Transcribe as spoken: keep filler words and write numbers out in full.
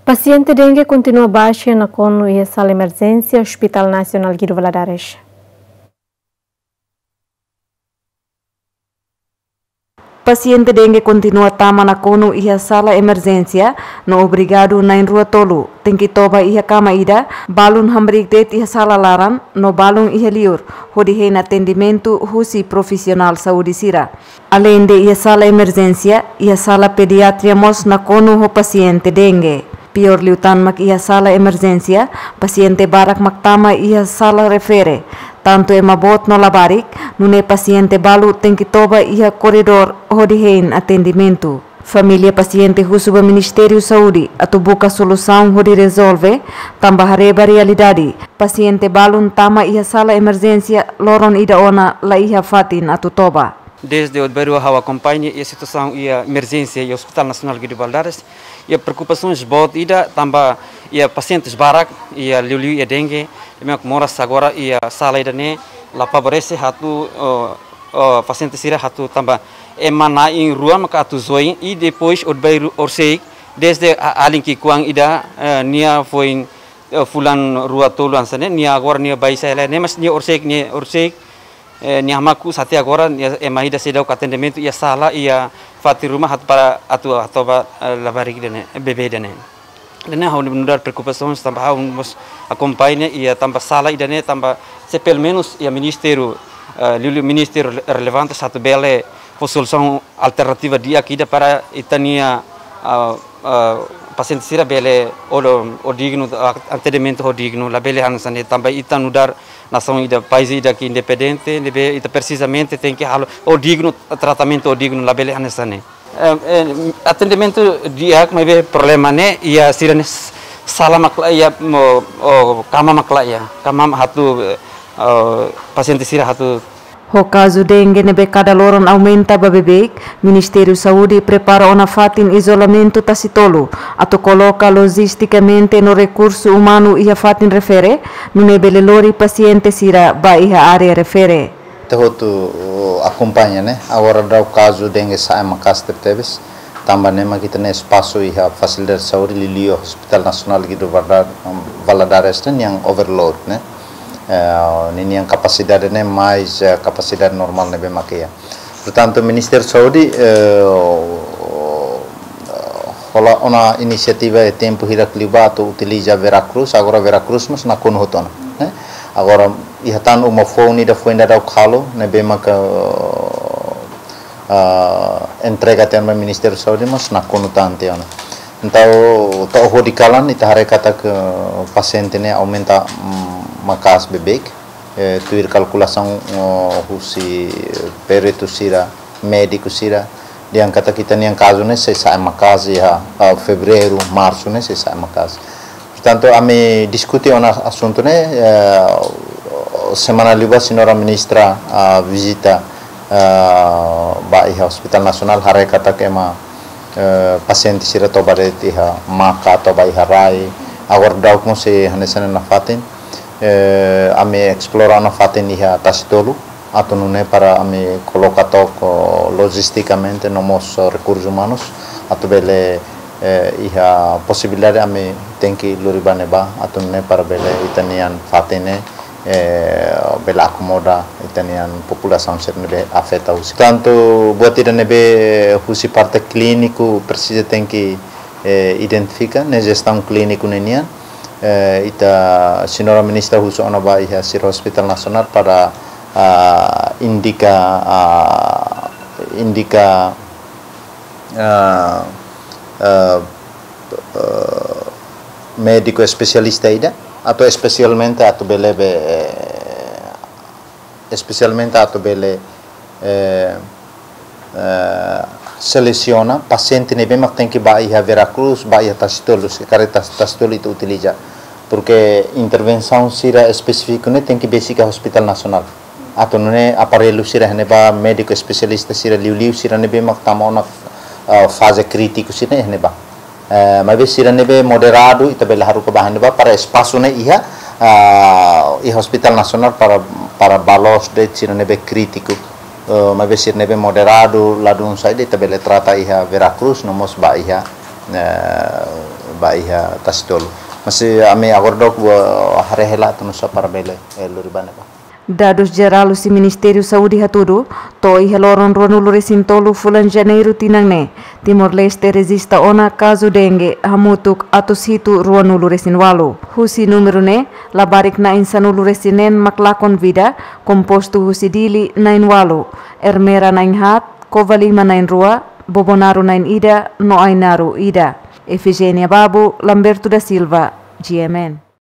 Pasiente dengue kontinua baixa nakonu iha sala emerjénsia Hospital Nasionál Guido Valadares. Pasiente dengue kontinua tama nakonu iha sala emerjénsia, no obrigadu na'in rua tolu tenke toba iha kama ida, balun hamriik de'it iha sala laran, no balun iha liur, hodi hein atendimentu husi profisionál saúde sira. Aleinde iha sala emerjénsia, iha sala pediatria mós nakonu ho pasiente dengue. Piór liután mak iha sala emerjénsia, pasiente barak mak tama iha sala refere. Tantu ema boot no labarik, nune'e pasiente balu tenke toba iha koridór hodi hein atendimentu. Família pasiente husu ba Ministériu Saúde atu buka solusaun hodi rezolve, tanba haree ba realidade, pasiente balun tama iha sala emerjénsia loron ida ona la iha fatin atu toba. Desde ohin bainrua ha'u akompaña iha situasaun iha emerjénsia iha Hospital Nasionál Guido Valadares, iha preokupasaun boot ida tanba iha pasiente barak, iha liuliu iha dengue, ema moras agora iha sala ida-ne'e la favorese atu, oh, oh, pasiente sira atu tanba ema na'in rua maka atu join i depois ohin bainrua horiseik desde a-, alin ki'ikoan ida, eh, nia foin, eh, fulan rua tolu hanesan ne'e, nia agora nia baixa hela ne'e, mas nia horiseik, nia horiseik, eh, nia hamaku sate agora, nia ema ida seidauk atendimentu iha sala, iha fatin ruma atu para atu, atu ba, eh, labarik ida-ne'e, bebé ida-ne'e. Ida-ne'e ha'u nu'udar preokupasaun tanba ha'u mós akompaña iha tanba sala ida-ne'e tanba se pelumenus iha ministériu, eh, liuliu ministériu rele-, relevante atu bele fó solusaun alternativa di'ak ida para ita-nia, ah, ah, pasiente sira bele ho, ho dignu, ah, atendimentu ho dignu, labele hanesan ne'e tanba ita nu'udar nasaun ida, país ida ke independente, ne'ebé ita precisamente tenke halo ho dignu, tratamentu ho dignu, labele hanesan ne'e. Eh, eh, atendimentu di'ak, maibé problema ne'e iha sira-nia s-, sala mak laiha, mo, oh, kama mak laiha, kama atu, eh, oh, pasiente sira atu. Ho kazu dengue ne'ebé kada loron aumenta ba beibeik, Ministériu Saúde prepara ona fatin izolamentu Tasi Tolu, atu koloka lojistikamente no rekursu umanu iha fatin refere, nune'e bele lori pasiente sira ba iha área refere. Ita hotu akompaña, ne'e, agora daudaun kazu dengue sa'e maka'as tebetebes. Tanba ne'e mak ita-nia espasu iha fasilidade saúde liuliu Hospital Nasionál Guido Valada-, Valadares ne'e nian overload, ne'e. Eh, ninian kapasidade ne'e mais, eh, kapasidade normál ne'ebé mak iha. Portantu, Ministériu Saúde, eh, hola ona inisiativa iha tempu hirak liubá atu utiliza Vera Cruz, agora Vera Cruz mós nakonu hotu ona, ne'e. Agora, iha tan uma foun ida foin daudauk halo, ne'ebé maka, ah, entrega tiha ona ba Ministériu Saúde, mas nakonu tan tiha ona. Entaun, to'o hodi kalan, ita haree katak pasiente ne'e aumenta, mm, maka'as beibeik, eh, tuir kalkulasaun, oh, husi peritu sira, médiku sira, dehan katak ita-nia kazu ne'e sei sa'e maka'as iha, ah, Fevereiru, Marsu ne'e sei sa'e maka'as. Portantu, ami diskute ona asuntu ne'e, eh, semana liubá Señora Ministra, ah, vizita, ah, ba iha Hospital Nasionál, haree katak ema, eh, pasiente sira toba de'it iha maka, toba iha rai, agora daudaun mós sei hanesan ne'e nafatin, eh, ami esplora ona fatin iha Tasi Tolu, atu nune'e para ami koloka took lojistikamente no mós rekursus umanus atu bele, eh, iha posibilidade ami tenke lori ba ne'ebá atu nune'e para bele ita-nia fatin ne'e, eh, bele akomoda ita-nia populasaun sira ne'ebé afeta husi. Tantu buat ida ne'ebé husi parte klíniku presiza tenke, eh, identifika, ne'e jestaun klíniku ne'e nian, eh, ita Señora Ministra husu ona ba iha sira Hospital Nasionál para, ah, indika, ah, indika, ah, ah, ah, médiku espesialista ida, atu espesialmente atu bele be, eh, espesialmente atu bele, eh, eh, selesiona pasiente ne'ebé mak tenke ba iha Vera Cruz, ba iha Tasi Tolu, se karik Tas-, Tasi Tolu ita utiliza. Porke intervensaun sira espesífiku ne'e tenke besik iha Hospital Nasionál. Atu nune'e aparellu sira iha ne'ebá, médiku espesialista sira liuliu sira ne'ebé mak tama ona, ah, faze krítiku sira iha ne'ebá. Eh, maibé sira ne'ebé moderadu, ita bele haruka ba iha ne'ebá para espasu ne'e iha, ah, iha Hospital Nasionál para, para ba loos de'it sira ne'ebé krítiku. Eh, maibé sira ne'ebé moderadu, ladún saida, ita bele trata iha Vera Cruz, no mós ba iha, eh, ba iha Tasitolu. Mas ami agora dook ba haree hela atu nusa para bele, eh, lori ba ne'ebá. Dadus jerál husi Ministériu Saúde hatudu, to'o iha loron ruanulu-resin-tolu fulan Janeiru tinan ne'e, Timor-Leste rejista ona kazu dengue hamutuk atus hitu ruanulu-resin-ualu. Husi númeru ne'e, labarik na'in sanulu-resin-neen mak lakon vida, kompostu husi Dili na'in-ualu, Ermera na'in-haat, Covalima na'in-rua, Bobonaro na'in-ida, no Ainaro ida. Efigénia Babu, Lamberto da Silva, G M N.